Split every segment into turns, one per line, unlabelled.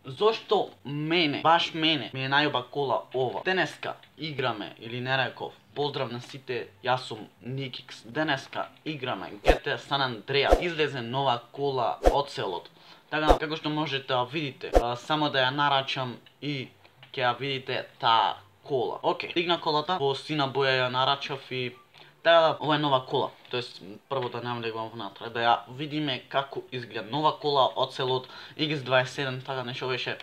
Зошто мене, баш мене, ми е најуба кола ова? Денеска играме, или не реков, поздрав на сите, јас сум Никикс. Денеска играме GTA San Andreas. Излезе нова кола од селот. Така, како што можете да видите, само да ја нарачам и ќе ја видите таа кола. Океј, стигна колата, во сина боја ја нарачав и така, ова е нова кола. Тоест, прво да навлегувам внатре, да ја видиме како изгледа нова кола од селот X27, така нешто беше.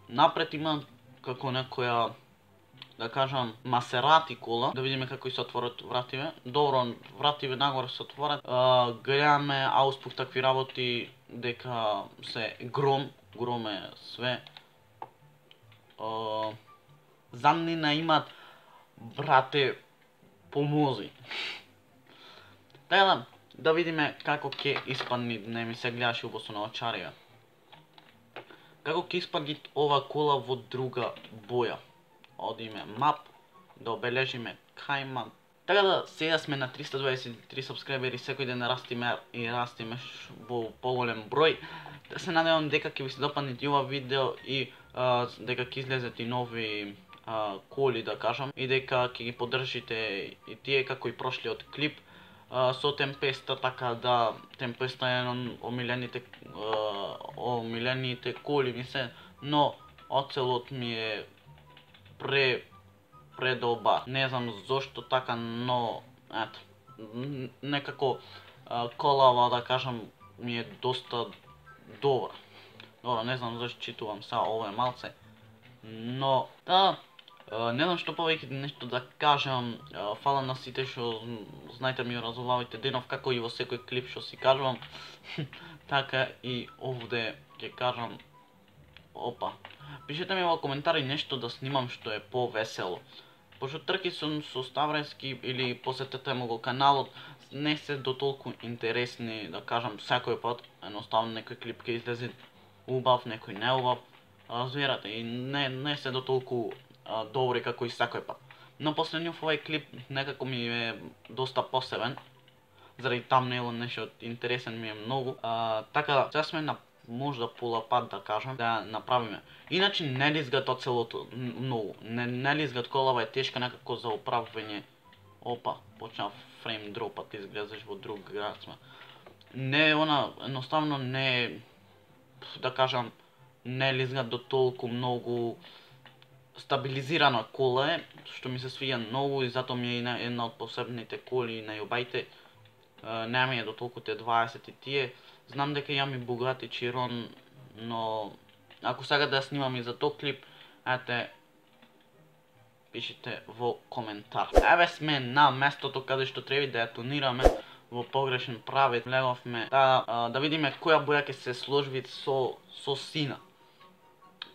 Напред има како некоја, да кажам, Масерати кола, да видиме како се отворат вративе. Добро, вративе нагоре се отворат. Гледаме ауспух такви работи, дека се гром е све. Замнина имат, брате, помози. Така да видиме како ќе испадни, не ми се гледаше убаво на очарија. Како ќе испадни ова кола во друга боја. Одиме мап, да обележиме кај мап. Така да, сега сме на 323 сабскрайбери, секој ден растиме и растиме во поголем број. Да се надевам дека ќе ви се допадне ова видео и дека ќе излезат и нови коли, да кажам, и дека ќе ги поддржите и тие како и прошлиот клип со Темпеста, така да Темпеста е еден омилените коли ми се, но оцелот ми е предобар. Не знам зошто така, но ето, некако колава, да кажам, ми е доста добра. Добро, не знам зашто читувам сега, ова е малце, но да, не знам што повеќе нешто да кажам. Фала на сите што знаете ми разолавите денов, како и во секој клип што си кажувам. Така и овде ќе кажам. Опа. Пишете ми во коментари нешто да снимам што е повесело. Пошто трки сум со Ставрески или посетете му го каналот, не се до толку интересни, да кажам, секој пат. Едноставно некој клип ќе излезе убав, некој не убав. Разбирате, и не се до толку добри како и секој пат. Но последниот овој клип некако ми е доста посебен. Заради тамнейлот нешто интересен ми е многу. Така, сега сме на можда пола пат, да кажам, да направиме. Иначе не лизгат од селото многу. Не лизгат, колава е тешка некако за управување. Опа, почна фрейм дропат, изгледаш во друг град сме. Не, едноставно не, да кажам, не лизгат до толку многу. Стабилизирана кола е, што ми се свиѓа многу и затоа ми е една од посебните коли најубајте. Не ми е до толку те 20 и тие. Знам дека имам и Bugatti Chiron, но ако сега да снимам и за тој клип, ете, пишете во коментар. Еве сме на местото каде што треба да ја тонираме во погрешен правец. Влеговме да видиме која боја ќе се сложи со сина.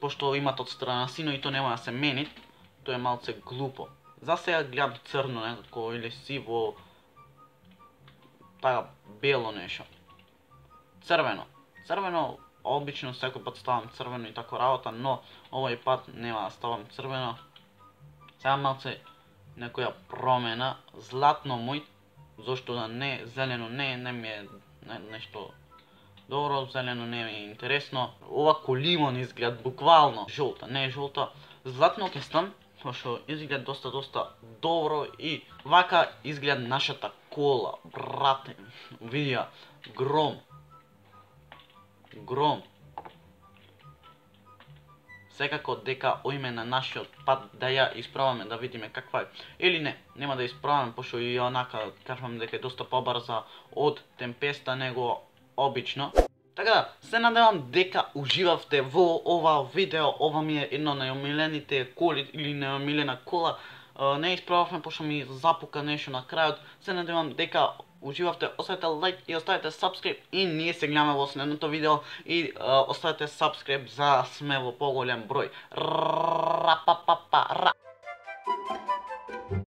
Пошто имат од страна сино и то нема да се мени, тоа е малце глупо. За сега гледам црно некако или сиво, така бело нешто. Црвено, обично секој пат ставам црвено и тако работа, но овој пат нема да ставам црвено. Сега малце некоја промена, златно мој, зошто да не, зелено не ми е нешто добро, зелено не ми е интересно. Ова ко лимон изгледа, буквално. Жолта, не е жолта. Златно ќе стан, пошто изгледа доста добро и вака изгледа нашата кола, брате. Видија, гром. Секако дека оиме на нашиот пат да ја испробаме, да видиме каква е. Или не, нема да испробаме, пошто и онака кажувам дека е доста побрза од Темпеста него обично. Така, се надевам дека уживавте во ова видео. Ова ми е едно најомилените коли или најомилена кола. Не испробавме пошто ми запука нешто на крајот. Се надевам дека уживавте, оставете лайк и оставете сабскрип и ние се гледаме во следното видео и оставете сабскрип за сме во поголем број.